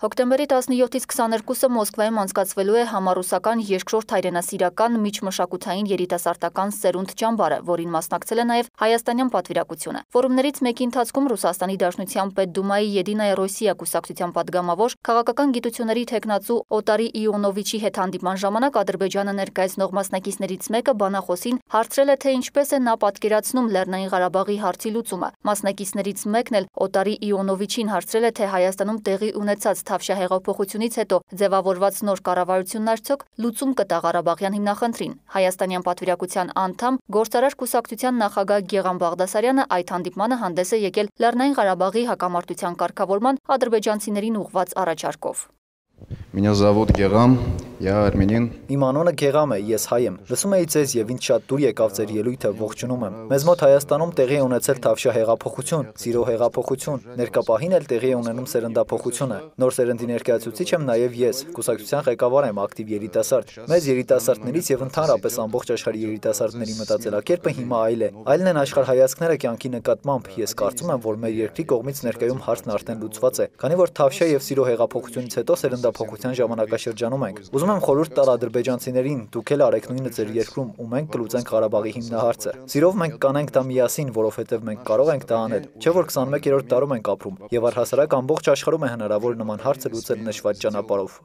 Հոկտեմբերի 17-ից 22-ը Մոսկվայում անցկացվելու է համառուսական երկրորդ հայրենասիրական միջմշակութային երիտասարդական սերունդ ճամբարը, որին մասնակցել է նաև հայաստանյան պատվիրակությունը։ Ֆորումներից մեկի ընթացքում Ռուսաստանի Դաշնության Պետդումայի Եդինայա Ռոսիա կուսակցության պատգամավոր քաղաքական գիտությունների թեկնածու Օտարի Իոնովիչի հետ հանդիպման ժամանակ Ադրբեջանը ներկայացնող մասնակիցներից մեկը բանախոսին հարցրել է, թե ինչպես է նա պատկերացնում Լեռնային Ղարաբաղի հարցի լուծումը։ Մասնակիցներից մեկն էլ Օտարի Իոնովիչին հարցրել է, թե Հայաստանում տեղի ունեցած Թավշյա հեղափոխությունից հետո ձևավորված նոր կառավարությունն արդյոք լուծում կտա Ղարաբաղյան հիմնախնդրին։ Հայաստանյան պատվիրակության անդամ Գործարար կուսակցության նախագահ Գեղամ Բաղդասարյանը այդ հանդիպմանը հանդես է եկել Լեռնային Ղարաբաղի հակամարտության կարգավորման ադրբեջանցիներին ուղղված առաջարկով։ Меня зовут Герам, я армянин։ Իմ անունը Գեղամ է, ես հայ եմ։ Լսում էի ձեզ եւ ինձ շատ դուր եկավ ձեր ելույթը, ողջունում եմ։ Մեզ մոտ Հայաստանում տեղի է ունեցել Թավշյա հեղափոխություն, Սիրո հեղափոխություն, ներկա պահին էլ տեղի է ունենում սերնդափոխությունը։ Նոր սերնդի ներկայացուցիչ եմ նաեւ ես, կուսակցության ղեկավար եմ, ակտիվ երիտասարդ։ Մեզ երիտասարդներից եւ ընդհանրապես ամբողջ աշխարհի երիտասարդների մտածելակերպը հիմա այլ է։ Այլն են աշխարհայացքները կյանքի նկատմամբ։ Ես կարծում եմ, որ մեր երկրի կողմից ներկայում հարցն արդեն լուծված է, քանի որ Թավշյա եւ Սիրո հեղափոխությունից հետո սերնդափոխության ժամանակաշրջանում ենք։ Ուզում եմ խորհուրդ տալ ադրբեջանցիներին, դուք էլ արեք նույնը ձեր երկրում ու մենք կլուծենք Ղարաբաղի հիմնահարցը։ Սիրով մենք կանենք դա միասին, որովհետև մենք կարող ենք դա անել։ Չէ՞ որ 21-րդ դարում ենք ապրում եւ առհասարակ ամբողջ աշխարհում է հնարավոր նման հարցը լուծել նշված ճանապարհով։